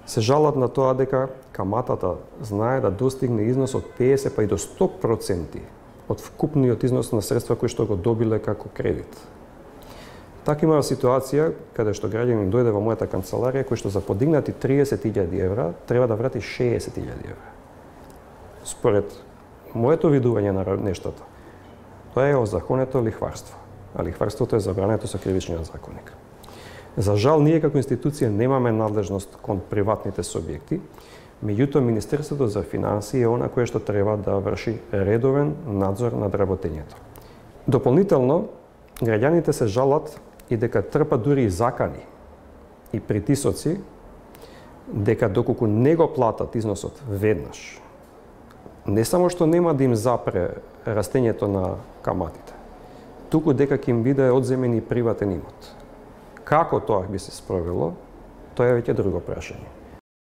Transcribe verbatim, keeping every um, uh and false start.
се жалат на тоа дека каматата знае да достигне износ од педесет па и до сто проценти од вкупниот износ на средства кои што го добиле како кредит. Така има ситуација каде што граѓанин дојде во мојата канцеларија кој што за подигнати триесет илјади евра треба да врати шеесет илјади евра. Според моето видување на нештата, тоа е озаконето лихварство, а лихварството е забрането со кривичниот законник. За жал, ние како институција немаме надлежност кон приватните субјекти, меѓутоа Министерството за финансии е она кое што треба да врши редовен надзор над работењето. Дополнително, граѓаните се жалат и дека трпат дури и закани и притисоци дека доколку не го платат износот веднаш, не само што нема да им запре растењето на каматите, туку дека ќе им биде одземен и приватен имот. Како тоа би се спровело, тоа е веќе друго прашање.